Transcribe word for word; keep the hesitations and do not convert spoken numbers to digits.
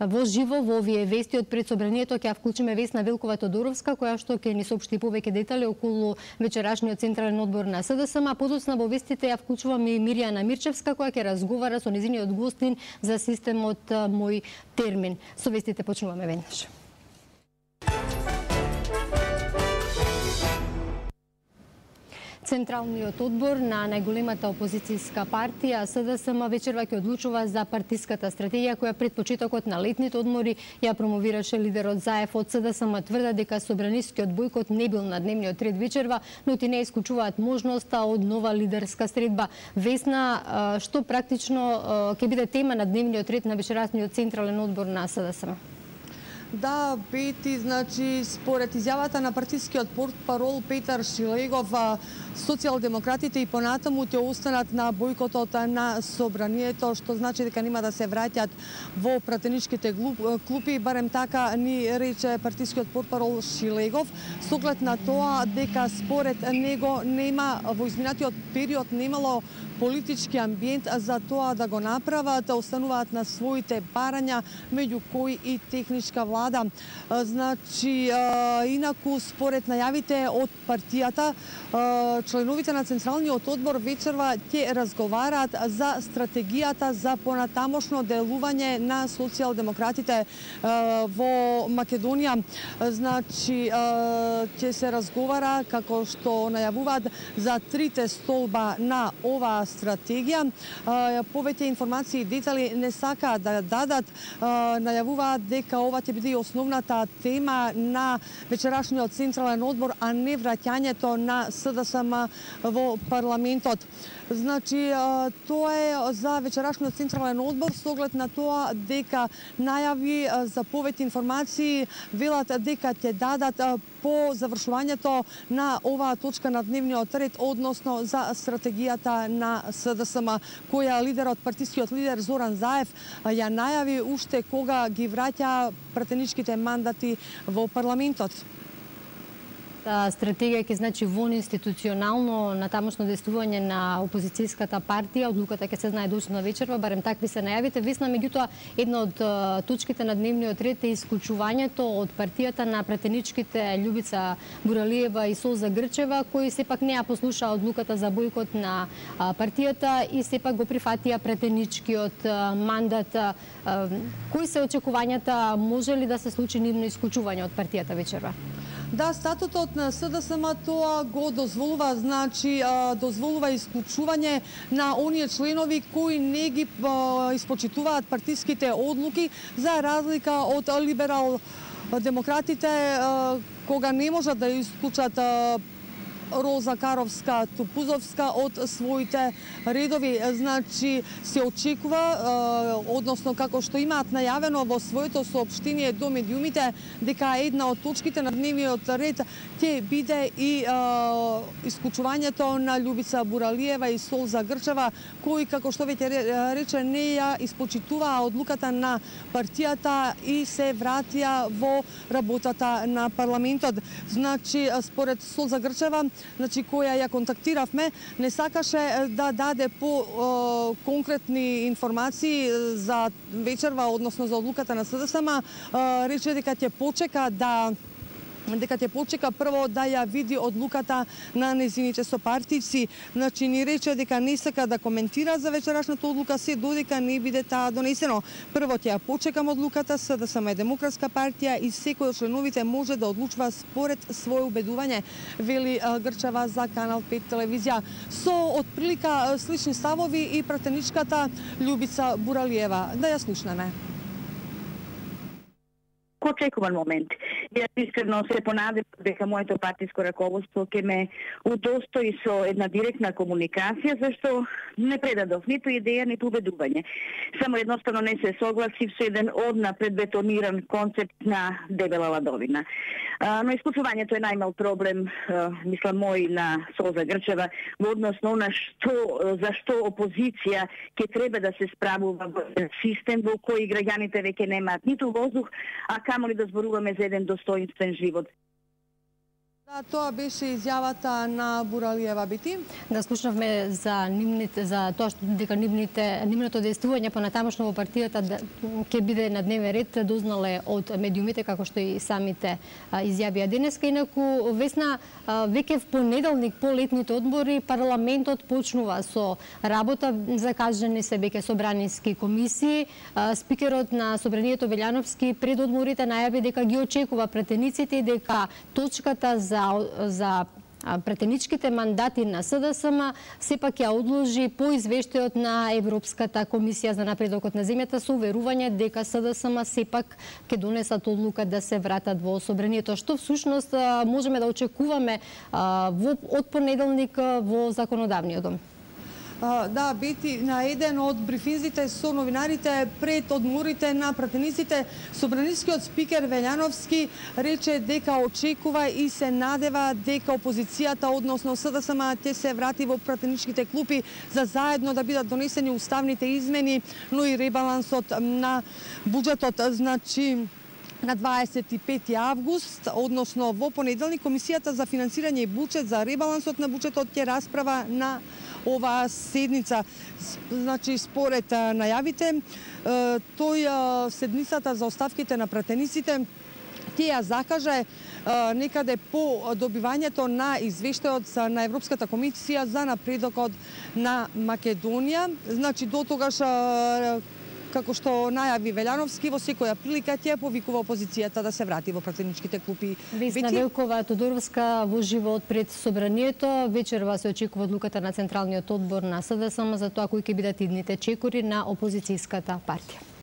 во живо во овие вести од пред собранието ќе вклучиме Весна Велкова Тодоровска, која што ќе ни соопшти повеќе детали околу вечерашниот централен одбор на СДСМ, а подоцна во вестите ја вклучуваме и Мирјана Мирчевска, која ќе разговара со незиниот гостин за системот Мој термин. Со вестите почнуваме веднаш. Централниот одбор на најголемата опозицијска партија СДСМ вечерва ќе одлучува за партиската стратегија која пред почетокот на летните одмори ја промовираше лидерот Заев. Од СДСМ тврда дека собранискиот бојкот не бил на дневниот ред вечерва, но ти не исклучуваат можноста од нова лидерска средба. Весна, што практично ќе биде тема на дневниот ред на вечерасниот централен одбор на СДСМ? Да, Пети, значи, според изјавата на партискиот портпарол Петар Шилегов, социјалдемократите и понатаму ќе останат на бојкотот на собранието, што значи дека нема да се враќаат во пратеничките клупи, барем така ни рече партискиот портпарол Шилегов, со оглед на тоа дека според него нема во изминатиот период немало политички амбиент за тоа да го направат, остануваат на своите барања, меѓу кои и техничка влада. Значи, инаку според најавите од партијата, членовите на Централниот одбор вечерва ќе разговараат за стратегијата за понатамошно делување на социјалдемократите во Македонија. Значи, ќе се разговара, како што најавуваат, за трите столба на оваа стратегија. Повеќе информации и детали не сакаат да дадат. Најавуваат дека ова ќе биде основната тема на вечерашниот централен одбор, а не враќањето на СДСМ во парламентот. Значи, тоа е за вечерашниот централен одбор, со оглед на тоа дека најави за повеќе информации велат дека ќе дадат по завршувањето на оваа точка на дневниот ред, односно за стратегијата на СДСМ, која лидерот, партискиот лидер Зоран Заев ја најави уште кога ги враќа пратеничките мандати во парламентот. Стратегија ќе значи вон институционално натамошно действување на опозицијската партија. Одлуката ќе се знае доцна вечерва, барем такви се најавите. Весна, меѓутоа, една од точките на дневниот ред е исклучувањето од партијата на пратеничките Љубица Буралиева и Солза Грчева, кои сепак не ја послушаа одлуката за бојкот на партијата и сепак го прифатија пратеничкиот мандат. Кои се очекувањата, може ли да се случи нивно исклучување од партијата вечерва? Да, статутот на СДСМ тоа го дозволува, значи дозволува исклучување на оние членови кои не ги испочитуваат партиските одлуки, за разлика од либерал демократите, кога не можат да исклучат Роза Каровска Тупузовска од своите редови. Значи, се очекува, односно како што имаат најавено во своето соопштение до медиумите, дека една од точките на дневниот ред ќе биде и исклучувањето на Љубица Буралиева и Солза Грчева, кои, како што веќе рече, не ја испочитуваа одлуката на партијата и се вратија во работата на парламентот. Значи, според Солза Грчева, значи која ја контактиравме, не сакаше да даде по конкретни информации за вечерва, односно за одлуката на СДСМ, рече дека ќе почека да дека ќе почека прво да ја види одлуката на незините сопартици. Значи, ни рече дека не сака да коментира за вечерашната одлука се додека не биде таа донесено. Прво ќе ја почекам одлуката, СДСМ е демократска партија и секој од членовите може да одлучува според свое убедување, вели Грчева за Канал пет телевизија. Со отприлика слични ставови и пратеничката Љубица Буралиева. Да ја слушнеме. Очекуван момент. Јас искрено се понадев дека моето партиско раководство ќе ме удостои со една директна комуникација, зашто не предадов ниту идеја, ниту убедување. Само едноставно не се согласив со еден однапред бетониран концепт на дебела ладовина. Но исклучувањето е најмал проблем, мислам, мој на Солза Грчева во однос на она што, зашто опозиција ќе треба да се справува во систем во кој граѓаните веќе немаат ниту воздух, а камо ли да зборуваме за еден достоинствен живот. Да, тоа беше изјавата на Буралиева Бити. Да, слушнавме за нивните, за тоа што дека нивните нивното действување понатамошно во партијата да, ќе биде на дневен ред, дознале од медиумите како што и самите а, изјавија денеска. Инаку Весна, а, веќе в понеделник по летните одмори парламентот почнува со работа, закажани се веќе собранински комисии. А, спикерот на собранието Велјановски пред одморите најави дека ги очекува претениците и дека точката за за претеничките мандати на СДСМ сепак ја одложи по извештајот на Европската комисија за напредокот на земјата со уверување дека СДСМ сепак ќе донесат одлука да се вратат во собранието, што всушност можеме да очекуваме од понеделник во законодавниот дом. Да, Бити, на еден од брифинзите со новинарите пред одморите на пратениците, собранискиот спикер Велјановски рече дека очекува и се надева дека опозицијата, односно СДСМ, ќе се врати во пратеничките клупи за заедно да бидат донесени уставните измени, но и ребалансот на буџетот. Значи, на дваесет и пети август, односно во понеделник, Комисијата за финансирање и буџет за ребалансот на буџетот ќе расправа на оваа седница. Значи, според најавите, тој седницата за оставките на пратениците ќе ја закаже некаде по добивањето на извештајот на Европската комисија за напредокот на Македонија. Значи, до тогаш, како што најави Велјановски, во секоја прилика ќе повикува опозицијата да се врати во пратеничките клупи. Весна Велкова Тодоровска во живот пред собранието. Вечерва се очекува одлуката на Централниот одбор на СДСМ за тоа кои ќе бидат идните чекори на опозицијската партија.